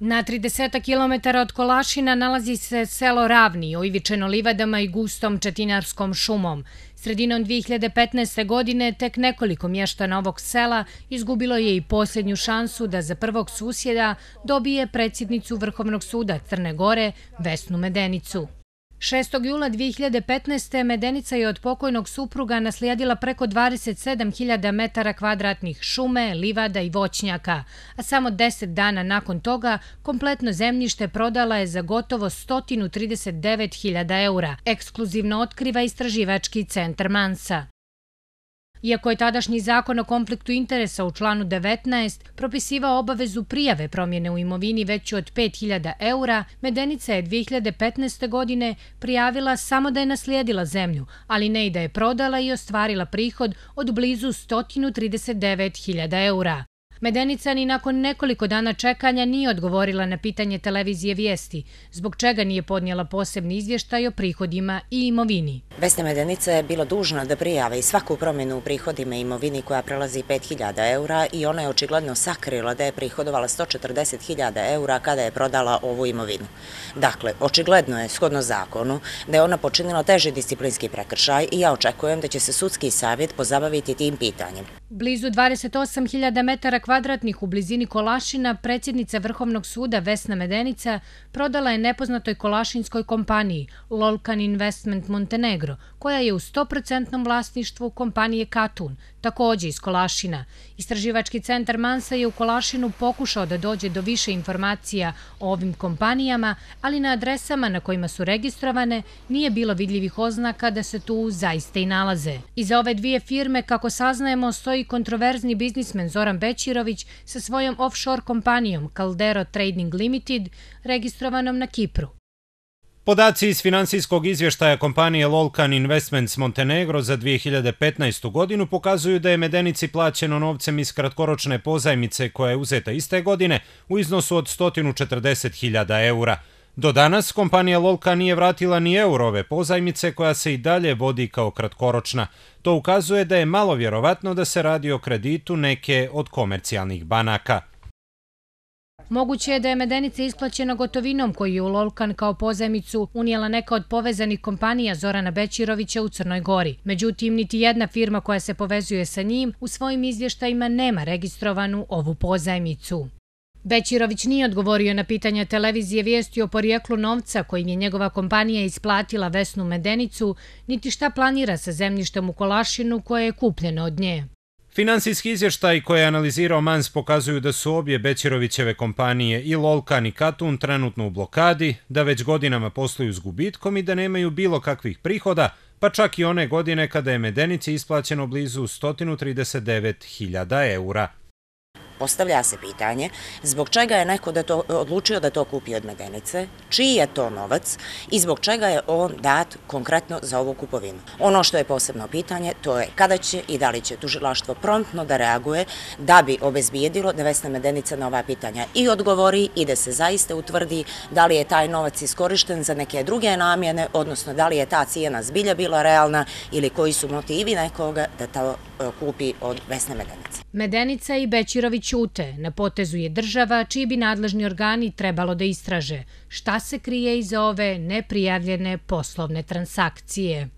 Na 30 km od Kolašina nalazi se selo Ravni, oivičeno livadama i gustom četinarskom šumom. Sredinom 2015. godine tek nekoliko mještana ovog sela izgubilo je i posljednju šansu da za prvog susjeda dobije predsjednicu Vrhovnog suda Crne Gore, Vesnu Medenicu. 6. jula 2015. Medenica je od pokojnog supruga naslijedila preko 27.000 metara kvadratnih šume, livada i voćnjaka, a samo 10 dana nakon toga kompletno zemljište prodala je za gotovo 139.000 eura, ekskluzivno otkriva istraživački centar Mansa. Iako je tadašnji zakon o konfliktu interesa u članu 19 propisivao obavezu prijave promjene u imovini veću od 5.000 eura, Medenica je 2015. godine prijavila samo da je naslijedila zemlju, ali ne i da je prodala i ostvarila prihod od blizu 139.000 eura. Medenica ni nakon nekoliko dana čekanja nije odgovorila na pitanje televizije Vijesti, zbog čega nije podnijela posebni izvještaj o prihodima i imovini. Vesna Medenica je bila dužna da prijavi svaku promjenu u prihodima i imovini koja prelazi 5.000 eura i ona je očigledno sakrila da je prihodovala 140.000 eura kada je prodala ovu imovinu. Dakle, očigledno je, shodno zakonu, da je ona počinila teži disciplinski prekršaj i ja očekujem da će se sudski savjet pozabaviti tim pitanjem. Blizu 28.000 metara kvadratnih u blizini Kolašina predsjednica Vrhovnog suda Vesna Medenica prodala je nepoznatoj kolašinskoj kompaniji Lolkan Investment Montenegro, koja je u 100% vlasništvu kompanije Katun, također iz Kolašina. Istraživački centar Mansa je u Kolašinu pokušao da dođe do više informacija o ovim kompanijama, ali na adresama na kojima su registrovane nije bilo vidljivih oznaka da se tu zaista i nalaze. Iza ove dvije firme, kako saznajemo, stoji kontroverzni biznismen Zoran Bećirović sa svojom offshore kompanijom Caldero Trading Limited, registrovanom na Kipru. Podaci iz financijskog izvještaja kompanije Lolkan Investments Montenegro za 2015. godinu pokazuju da je Medenici plaćeno novcem iz kratkoročne pozajmice koja je uzeta iste godine u iznosu od 140.000 eura. Do danas kompanija Lolkan nije vratila ni euro ove pozajmice koja se i dalje vodi kao kratkoročna. To ukazuje da je malo vjerovatno da se radi o kreditu neke od komercijalnih banaka. Moguće je da je Medenica isplaćena gotovinom koju je u Lolkan kao pozajmicu unijela neka od povezanih kompanija Zorana Bećirovića u Crnoj Gori. Međutim, niti jedna firma koja se povezuje sa njim u svojim izvještajima nema registrovanu ovu pozajmicu. Bećirović nije odgovorio na pitanja televizije Vijesti o porijeklu novca kojim je njegova kompanija isplatila Vesnu Medenicu, niti šta planira sa zemljištem u Kolašinu koje je kupljeno od nje. Finansijski izvještaj koje je analizirao Mans pokazuju da su obje Bećirovićeve kompanije i Lolkan i Katun trenutno u blokadi, da već godinama posluju s gubitkom i da nemaju bilo kakvih prihoda, pa čak i one godine kada je Medenici isplaćeno blizu 139.000 eura. Postavlja se pitanje zbog čega je neko odlučio da to kupi od Medenice, čiji je to novac i zbog čega je on dat konkretno za ovu kupovinu. Ono što je posebno pitanje, to je kada će i da li će tužilaštvo promptno da reaguje da bi obezbijedilo da Vesna Medenica na ova pitanja i odgovori i da se zaista utvrdi da li je taj novac iskorišten za neke druge namjene, odnosno da li je ta cijena zbilja bila realna ili koji su motivi nekoga da to kupi od Vesne Medenice. Medenica i Bećirović ćute, na potezu je država čiji bi nadležni organi trebalo da istraže šta se krije iza ove neprijavljene poslovne transakcije.